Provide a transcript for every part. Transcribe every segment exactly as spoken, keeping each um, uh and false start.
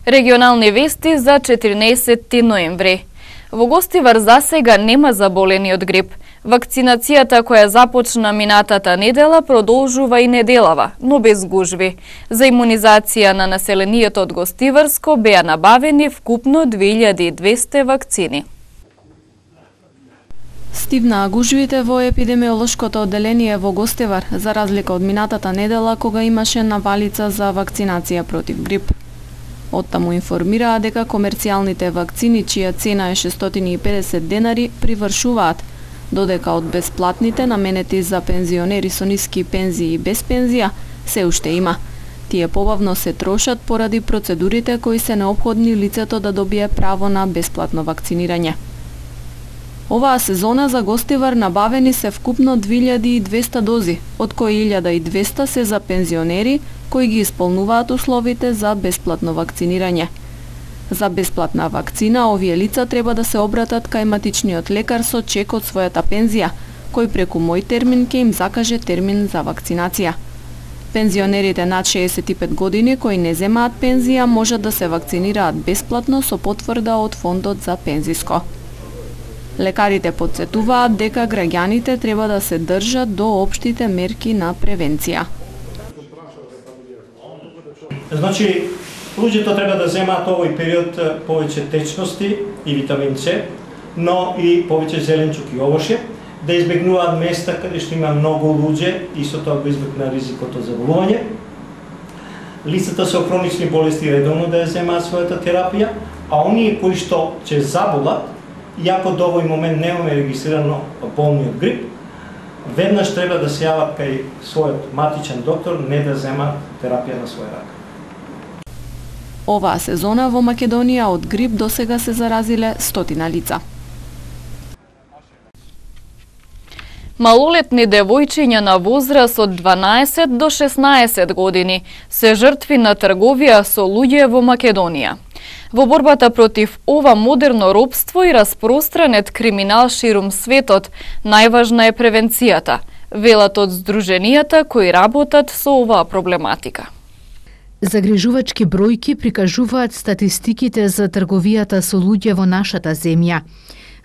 Регионални вести за четиринаесетти ноември. Во Гостивар засега нема заболени од грип. Вакцинацијата која започна минатата недела продолжува и неделава, но без гужви. За имунизација на населението од Гостиварско беа набавени вкупно две илјади и двесте вакцини. Стивнаа гужвите во епидемиолошкото одделение во Гостивар, за разлика од минатата недела кога имаше навалица за вакцинација против грип. Оттаму информираа дека комерцијалните вакцини, чија цена е шестстотини и педесет денари, привршуваат, додека од бесплатните наменети за пензионери со ниски пензии и без пензија се уште има. Тие побавно се трошат поради процедурите кои се неопходни лицето да добие право на бесплатно вакцинирање. Оваа сезона за Гостивар набавени се вкупно две илјади и двесте дози, од кои илјада и двесте се за пензионери кои ги исполнуваат условите за бесплатно вакцинирање. За бесплатна вакцина овие лица треба да се обратат кај матичниот лекар со чек од својата пензија, кој преку мој термин ќе им закаже термин за вакцинација. Пензионерите над шеесет и пет години кои не земаат пензија можат да се вакцинираат бесплатно со потврда од Фондот за пензиско. Лекарите потсетуваат дека граѓаните треба да се држат до општите мерки на превенција. Значи, луѓето треба да земаат овој период повеќе течности и витамин С, но и повеќе зеленчук и овоше, да избегнуваат места каде што има многу луѓе и со тоа го избегна ризикот од заболување. Лицата со хронични болести редовно да ја земаат својата терапија, а оние кои што ќе заболат, иако до овој момент немаме регистрирано болни од грип, веднаш треба да се јават кај својот матичен доктор, не да земаат терапија на свој рак. Оваа сезона во Македонија од грип досега се заразиле стотина лица. Малолетни девојчиња на возраст од дванаесет до шеснаесет години се жртви на трговија со луѓе во Македонија. Во борбата против ова модерно робство и распространет криминал ширум светот, најважна е превенцијата, велат од здруженијата кои работат со оваа проблематика. Загрижувачки бројки прикажуваат статистиките за трговијата со луѓе во нашата земја.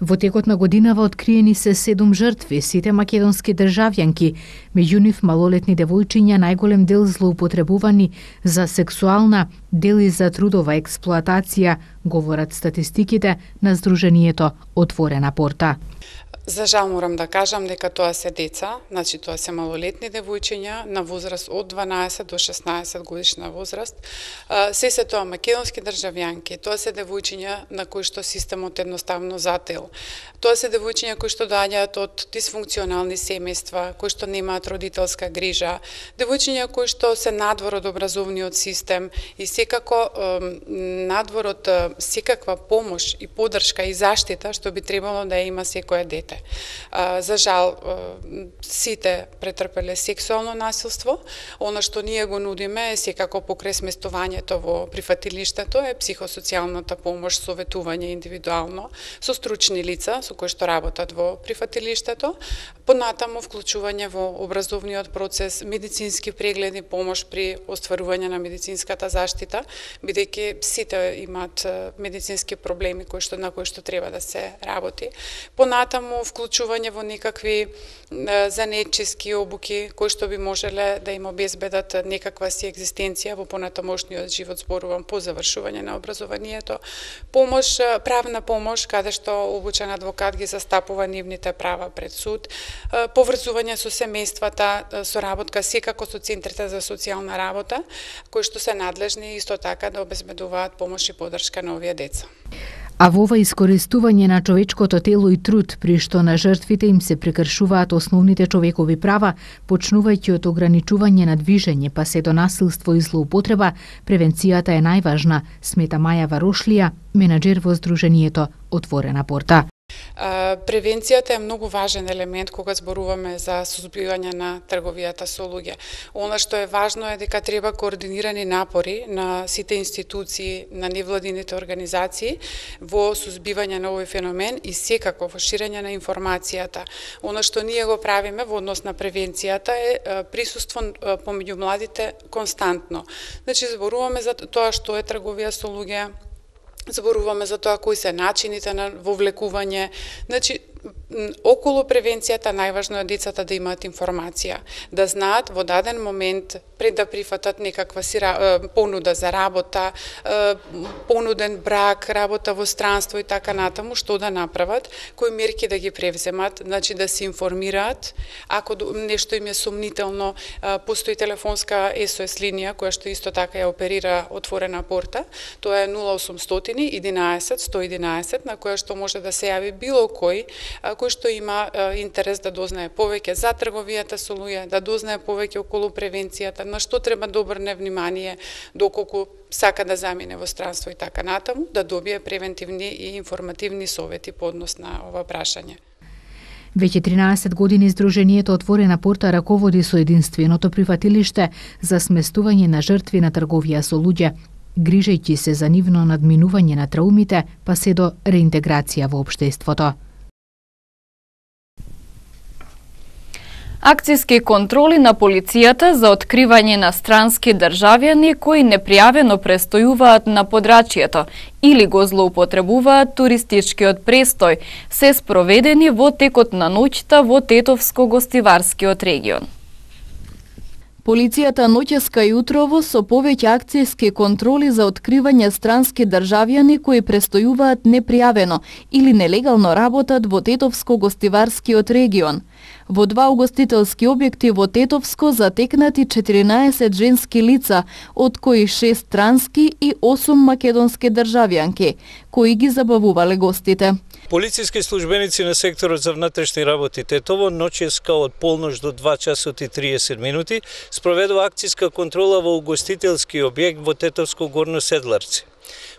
Во текот на годинава откриени се седум жртви, сите македонски државјанки, меѓу нив малолетни девојчиња, најголем дел злоупотребувани за сексуална, дели за трудова експлоатација, говорат статистиките на Здруженијето Отворена порта. За жал морам да кажам дека тоа се деца, значи тоа се малолетни девојчиња на возраст од дванаесет до шеснаесет годишна возраст. Се се тоа македонски државјанки, тоа се девојчиња на кои што системот едноставно зател. Тоа се девојчиња кои што доаѓаат од дисфункционални семејства, кои што немаат родителска грижа, девојчиња кои што се надвор од образовниот систем и секако надвор од секаква помош и поддршка и заштита што би требало да ја има секое дете. За жал, сите претрпеле сексуално насилство. Она што ние го нудиме е секако покрај сместувањето во прифатилиштето е психосоцијалната помош, советување индивидуално со стручни лица со кои што работат во прифатилиштето, понатаму вклучување во образовниот процес, медицински прегледи, помош при остварување на медицинската заштита, бидејќи сите имаат медицински проблеми кои што на кои што треба да се работи. Понатаму вклучување во некакви занетчиски обуки кои што би можеле да им обезбедат некаква си екзистенција во понатамошниот живот, зборувам по завршување на образованието, помош, правна помош каде што обучен адвокат ги застапува нивните права пред суд, поврзување со семејствата, соработка секако со центрите за социјална работа, кои што се надлежни исто така да обезбедуваат помош и поддршка на овие деца. А во ова искористување на човечкото тело и труд, при што на жртвите им се прекршуваат основните човекови права, почнувајќи од ограничување на движење па се до насилство и злоупотреба, превенцијата е најважна, смета Маја Варошлија, менаџер во Здруженијето Отворена порта. Превенцијата е многу важен елемент кога зборуваме за сузбивање на трговијата со луѓе. Она што е важно е дека треба координирани напори на сите институции, на невладините организации во сузбивање на овој феномен и секако во ширење на информацијата. Она што ние го правиме во однос на превенцијата е присуство помеѓу младите константно. Значи, зборуваме за тоа што е трговија со луѓе, зборуваме за тоа кои се начините на вовлекување. Значи, околу превенцијата најважно е децата да имаат информација, да знаат во даден момент пред да прифатат некаква си понуда за работа, понуден брак, работа во странство и така натаму, што да направат, кои мерки да ги превземат, значи да се информираат, ако нешто им е сумнително, постои телефонска ес о ес линија која што исто така ја оперира отворена порта, тоа е нула осумстотини единаесет сто единаесет, на која што може да се јави било кој кој што има интерес да дознае повеќе за трговијата со луѓе, да дознае повеќе околу превенцијата, на што треба да обрне внимание доколку сака да замине во странство и така натаму, да добие превентивни и информативни совети по однос на ова прашање. Веќе тринаесет години Сдруженијето Отворена порта раководи со единственото прифатилиште за сместување на жртви на трговија со луѓе, грижејќи се за нивно надминување на траумите, па се до реинтеграција во општеството. Акцијски контроли на полицијата за откривање на странски државјани кои непријавено престојуваат на подрачјето или го злоупотребуваат туристичкиот престој се спроведени во текот на ноќта во Тетовско-гостиварскиот регион. Полицијата ноќеска и утрово со повеќе акцијски контроли за откривање странски државјани кои престојуваат непријавено или нелегално работат во Тетовско-гостиварскиот регион. Во два угостителски објекти во Тетовско затекнати четиринаесет женски лица, од кои шест странски и осум македонски државјанки, кои ги забавувале гостите. Полициски службеници на секторот за внатрешни работи Тетово ноќеска од полнож до два часот и триесет минути спроведува акцијска контрола во угостителски објект во Тетовско Горно Седларци.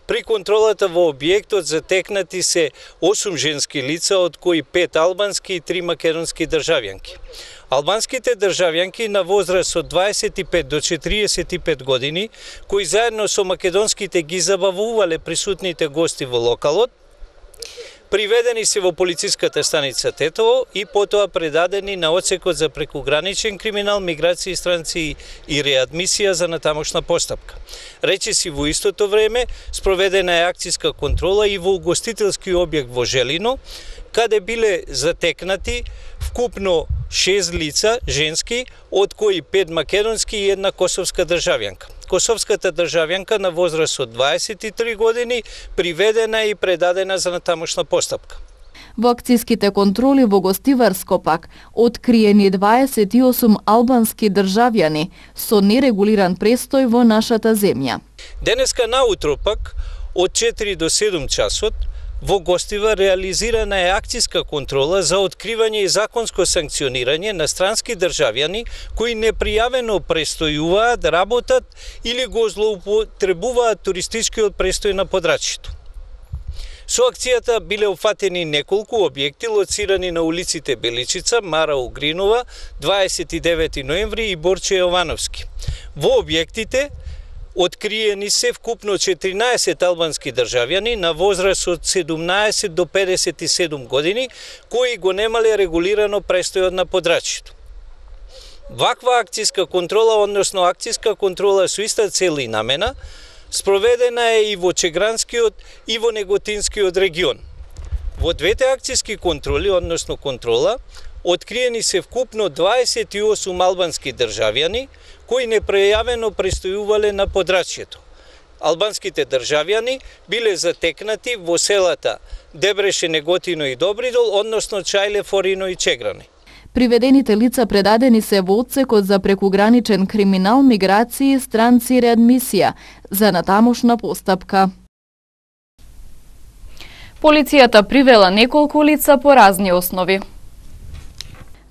При контролата во објектот затекнати се осум женски лица, од кои пет албански и три македонски државјанки. Албанските државјанки на возраст од дваесет и пет до четириесет и пет години, кои заедно со македонските ги забавувале присутните гости во локалот, приведени се во полициската станица Тетово и потоа предадени на одсекот за прекуграничен криминал, миграција, странци и реадмисија за натамошна постапка. Речиси во истото време спроведена е акцијска контрола и во угостителски објект во Желино, каде биле затекнати вкупно шест лица женски, од кои пет македонски и една косовска државјанка. Косовската државјанка на возраст од дваесет и три години приведена и предадена за натамошна постапка. Во акцијските контроли во Гостиварско пак откриени дваесет и осум албански државјани со нерегулиран престој во нашата земја. Денеска наутро пак од четири до седум часот во Гостива реализирана е акцијска контрола за откривање и законско санкционирање на странски државјани кои непријавено престојуваат, работат или го злоупотребуваат туристичкиот престој на подрачјето. Со акцијата биле уфатени неколку објекти лоцирани на улиците Беличица, Мара Угринова, дваесет и девети ноември и Борче Јовановски. Во објектите откриени се вкупно четиринаесет албански државјани на возраст од седумнаесет до педесет и седум години, кои го немале регулирано престојот на подрачјето. Ваква акцијска контрола, односно акцијска контрола со иста цел и намена, спроведена е и во Чегранскиот и во Неготинскиот регион. Во двете акцијски контроли, односно контрола, откриени се вкупно дваесет и осум албански државјани, кои непријавено престојувале на подрачјето. Албанските државјани биле затекнати во селата Дебреше, Неготино и Добридол, односно Чајле, Форино и Чеграни. Приведените лица предадени се во одсекот за прекуграничен криминал, миграција, странци и реадмисија за натамошна постапка. Полицијата привела неколку лица по разни основи.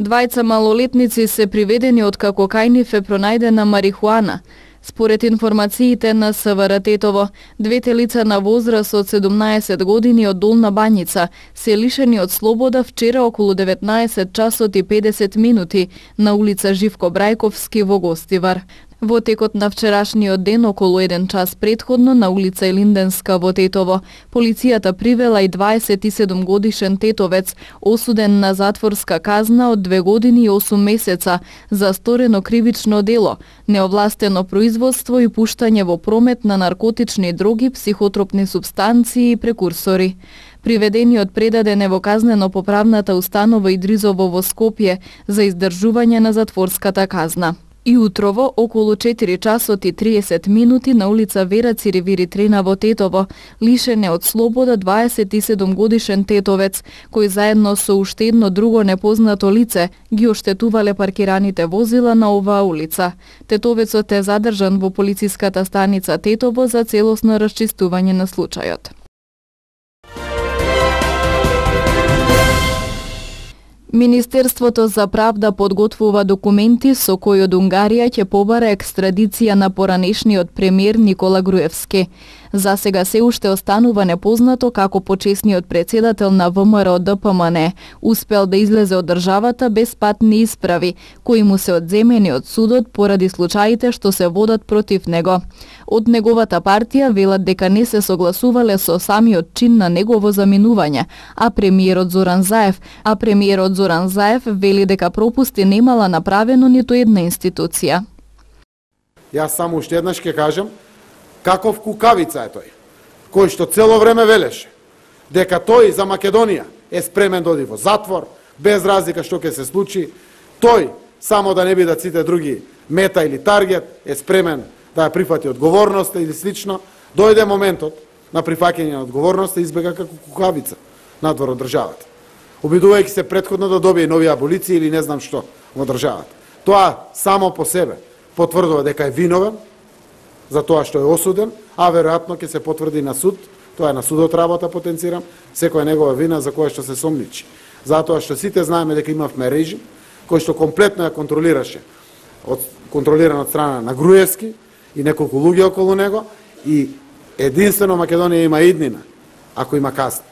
Двајца малолетници се приведени од како кај нив е пронајдена марихуана. Според информациите на СВР Тетово, двете лица на возраст од седумнаесет години од Долна Бањица се лишени од слобода вчера околу деветнаесет часот и педесет минути на улица Живко Брајковски во Гостивар. Во текот на вчерашниот ден, околу еден час предходно, на улица Елинденска во Тетово, полицијата привела и дваесет и седум годишен тетовец, осуден на затворска казна од две години и осум месеца за сторено кривично дело, неовластено производство и пуштање во промет на наркотични дроги, психотропни супстанции и прекурсори. Приведениот предаден е во казнено-поправната установа Идризово во Скопје за издржување на затворската казна. И утрово, околу четири часот и триесет минути на улица Вера Циривири Трена во Тетово, лишен е од слобода дваесет и седум годишен тетовец, кој заедно со уште едно друго непознато лице ги оштетувале паркираните возила на оваа улица. Тетовецот е задржан во полициската станица Тетово за целосно расчистување на случајот. Министерството за правда подготвува документи со кои од Унгарија ќе побара екстрадиција на поранешниот премиер Никола Груевски. За сега се уште останува непознато како почесниот председател на ВМРО Д П М Н успел да излезе од државата без патни исправи, кои му се одземени од судот поради случаите што се водат против него. Од неговата партија велат дека не се согласувале со самиот чин на негово заминување, а премиерот Зоран Заев, а премиерот Зоран Заев вели дека пропусти немала направено ниту една институција. Јас само уште еднаш ќе кажам, каков кукавица е тој, кој што цело време велеше дека тој за Македонија е спремен да оди во затвор, без разлика што ќе се случи, тој, само да не бидат сите други мета или таргет, е спремен да ја прифати одговорноста или слично. Дојде моментот на прифаќање на одговорноста и избега како кукавица надвор од државата, обидувајќи се претходно да добие нови аболиции или не знам што во државата. Тоа само по себе потврдува дека е виновен за тоа што е осуден, а веројатно ќе се потврди на суд, тоа е на судот работа, потенцирам, секоја негова вина за која што се сомничи. Затоа што сите знаеме дека имавме режим кој што комплетно ја контролираше, од, контролиран од страна на Груевски и неколку луѓе околу него, и единствено Македонија има иднина ако има казна.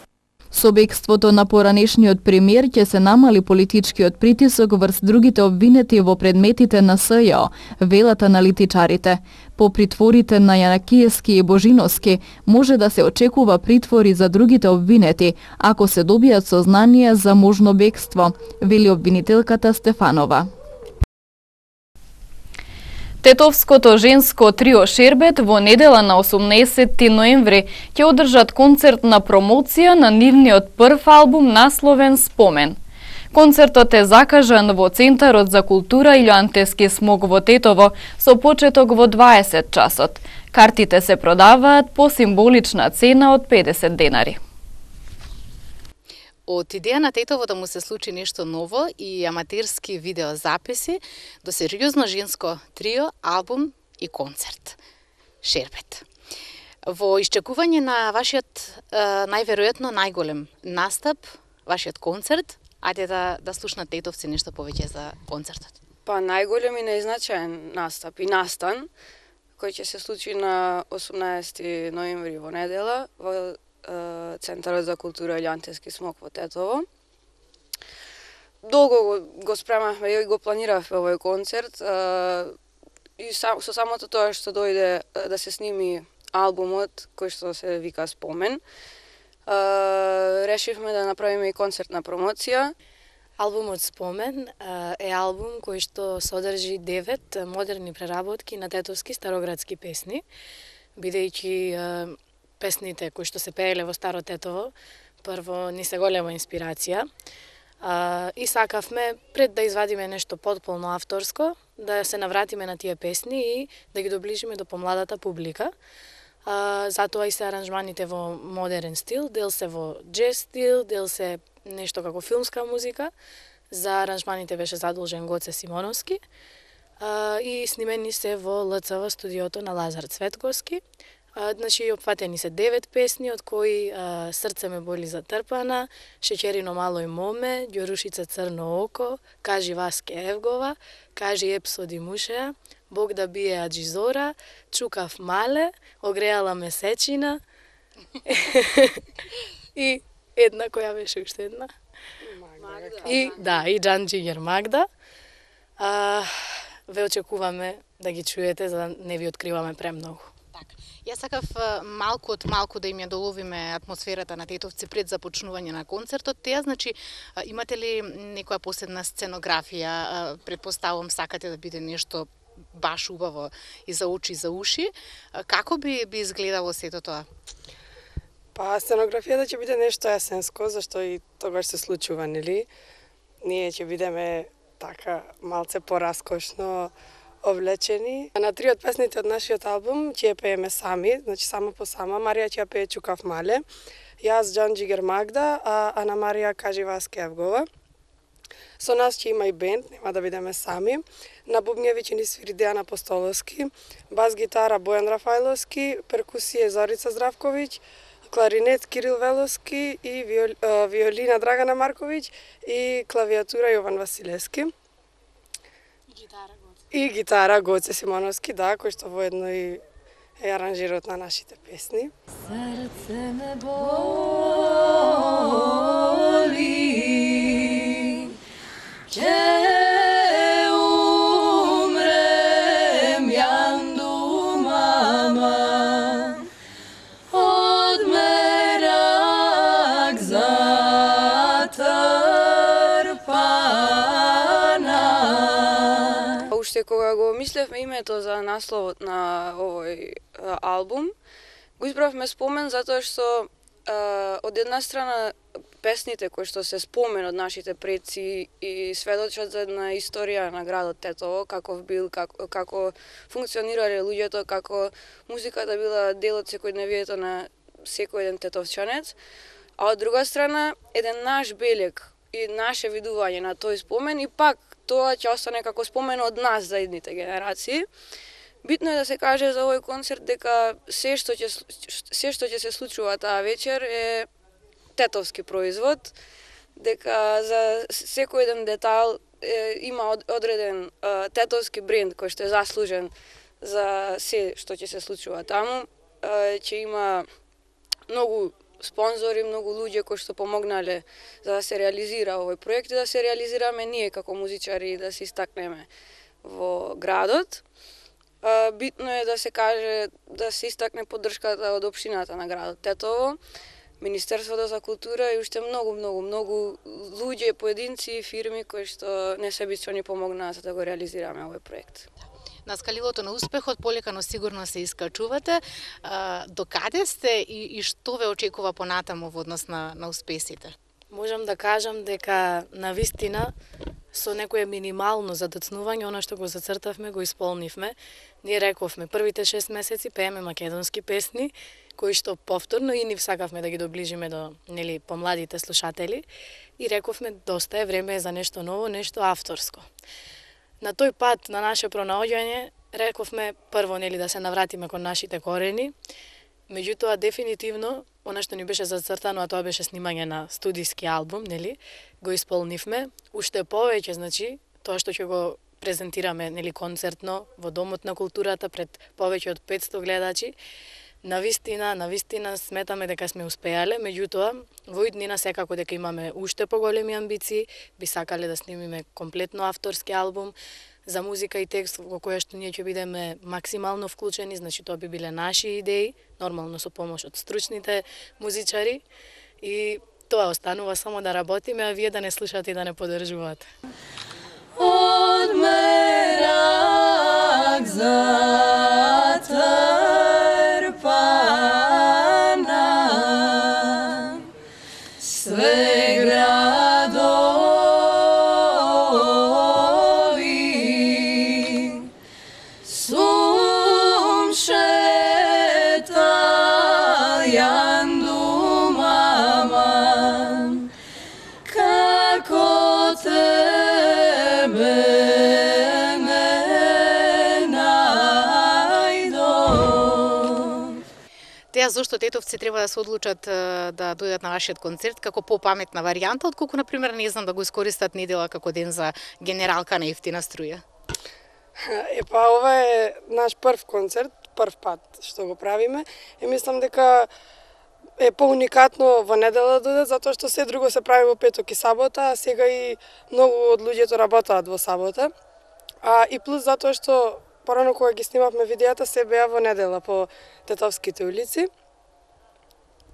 Со бегството на поранешниот премиер ќе се намали политичкиот притисок врз другите обвинети во предметите на С Ј О, велат аналитичарите. По притворите на Јанакиевски и Божиновски може да се очекува притвори за другите обвинети, ако се добијат сознанија за можно бегство, вели обвинителката Стефанова. Тетовското женско трио Шербет во недела на осумнаесетти ноември ќе одржат концерт на промоција на нивниот прв албум насловен Спомен. Концертот е закажан во Центарот за култура Илјоантески смок во Тетово со почеток во дваесет часот. Картите се продаваат по символична цена од педесет денари. Од идеја на Тетово да му се случи нешто ново и аматерски видеозаписи до сериозно женско трио, албум и концерт. Шербет. Во исчекување на вашиот е, најверојатно најголем настап, вашиот концерт, ајде да, да слушнат тетовци нешто повеќе за концертот. Па најголем и најзначаен настап и настан, кој ќе се случи на осумнаесети ноември во недела во Центарот за култура Илјоантески смок во Тетово. Долго го, го спремавме и го планиравме овој концерт и сам, со самото тоа што дојде да се сними албумот кој што се вика Спомен, решивме да направиме и концертна промоција. Албумот Спомен е албум кој што содржи девет модерни преработки на тетовски староградски песни, бидејќи песните кои што се пееле во Старо Тетово, прво ни се голема инспирација. А, и сакавме, пред да извадиме нешто потполно авторско, да се навратиме на тие песни и да ги доближиме до помладата публика. А, затоа и се аранжманите во модерен стил, дел се во джез стил, дел се нешто како филмска музика. За аранжманите беше задолжен Гоце Симоновски. А, и снимени се во Л Ц В студиото на Лазар Цветковски. А, значи, опфатени се девет песни, од кои а, Срце ме боли затрпана, Шеќерино мало и моме, Ѓорушица црно око, Кажи Васке Евгова, Кажи Епсоди Мушеа, Бог да бие аджизора, чукав мале, огреала месечина. И една која беше уште една? Магда. И да, и Джанџигер Магда. А, ве очекуваме да ги чуете за да не ви откриваме премногу. Така. Јас сакав малку од малку да им ја доловиме атмосферата на Тетовци пред започнување на концертот. Теа, значи, имате ли некоја посебна сценографија? Предпоставувам сакате да биде нешто баш убаво и за очи и за уши. Како би би изгледало сето тоа? Па сценографијата ќе биде нешто есенско, зашто и тогаш се случува, нели? Ние ќе бидеме така малце пораскошно облечени. На три од песните од нашиот албум ќе ја пееме сами, значи само по сама. Марија ќе ја пее Чукав мале, јас Джанџигер Магда, а Ана Марија Кажива Скевгова. Со нас ќе има и бенд, нема да бидеме сами. На бубњеви ќе ни свири Дејан Апостоловски, бас гитара Бојан Рафајловски, перкусија Зорица Здравковиќ, кларинет Кирил Веловски и виол, виолина Драгана Марковиќ и клавиатура Јован Василевски. И гитара Гоце. И гитара Гоце Симоновски, да, кој што воедно и е аранжирот на нашите песни. Срце ме боли, ќе умрем јанду мама, од мерак затрпана. Уште кога го мислевме името за насловот на овој а, албум, го избравме спомен затоа што а, од една страна песните кои што се спомен од нашите предци и сведочат за една историја на градот Тетово, каков бил, како, како функционирале луѓето, како музиката била дел од секојдневието на секој еден тетовчанец, а од друга страна еден наш белег и наше видување на тој спомен и пак тоа ќе остане како спомен од нас за идните генерации. Битно е да се каже за овој концерт дека се што ќе се што ќе се случува таа вечер е тетовски производ, дека за секој еден детайл е, има одреден е, тетовски бренд кој што е заслужен за се што ќе се случува таму. Е, ќе има многу спонзори, многу луѓе кои што помогнале за да се реализира овој проект и да се реализираме ние како музичари и да се истакнеме во градот. Битно е да се каже, да се истакне поддршката од општината на градот Тетово, Министерството за култура и уште многу, многу, многу луѓе, поединци и фирми кои што несебично ни помогнаа за да го реализираме овој проект. На скалилото на успехот полека но сигурно се искачувате. До каде сте и, и што ве очекува понатаму во однос на, на успесите? Можам да кажам дека на вистина со некое минимално задоцнување, она што го зацртавме, го исполнивме. Ние рековме првите шест месеци пееме македонски песни, кои што повторно и нив сакавме да ги доближиме до нели помладите слушатели и рековме доста е време за нешто ново, нешто авторско. На тој пат на наше пронаоѓање рековме прво нели да се навратиме кон нашите корени. Меѓутоа дефинитивно она што ни беше зацртано, а тоа беше снимање на студиски албум, нели, го исполнивме. Уште повеќе, значи, тоа што ќе го презентираме, нели, концертно во Домот на културата пред повеќе од петсто гледачи. Навистина, навистина сметаме дека сме успеале, меѓутоа во иднина секако дека имаме уште поголеми амбиции, би сакале да снимиме комплетно авторски албум за музика и текст во која што ние ќе бидеме максимално вклучени, значи тоа би биле наши идеи, нормално со помош од стручните музичари и тоа останува само да работиме, а вие да не слушате и да не поддржувате. Од мерак затрпана, све градови, сум шетал јанду мама, како тебе не најдов. Теа зошто тетовци треба да се одлучат да дојдат на вашиот концерт како попаметна варијанта, отколку, например, не знам, да го искористат недела како ден за генералка на ефтина струја? Епа, ова е наш прв концерт, прв пат што го правиме. И мислам дека е поуникатно во недела да дојдат, затоа што се друго се прави во петок и сабота, а сега и многу од луѓето работаат во сабота. А и плюс затоа што порано кога ги снимавме видеата се беа во недела по Тетовските улици.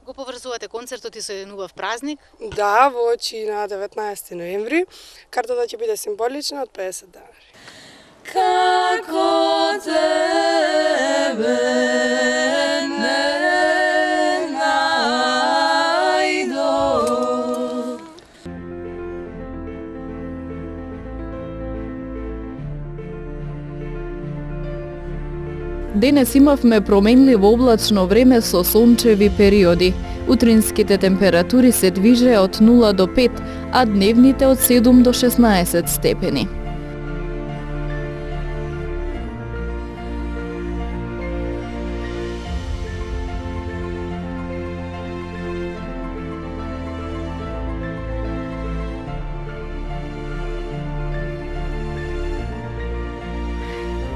Го поврзувате концертот и со еден убав празник? Да, во очи на деветнаесети ноември. Картата ќе биде символична од педесет денари. Како тебе не најдов. Денес имавме променливо облачно време со сончеви периоди. Утринските температури се движеа од нула до пет, а дневните од седум до шеснаесет степени.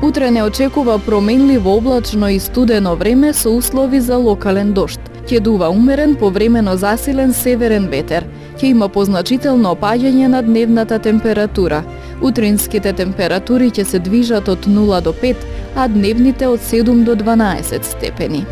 Утре не очекува променливо облачно и студено време со услови за локален дожд. Ќе дува умерен повремено засилен северен ветер. Ќе има позначително опаѓање на дневната температура. Утринските температури ќе се движат од нула до пет, а дневните од седум до дванаесет степени.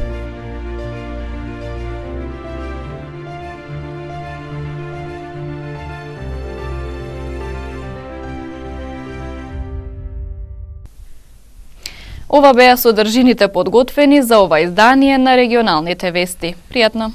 Ова беа содржините подготвени за ова издание на регионалните вести. Пријатно!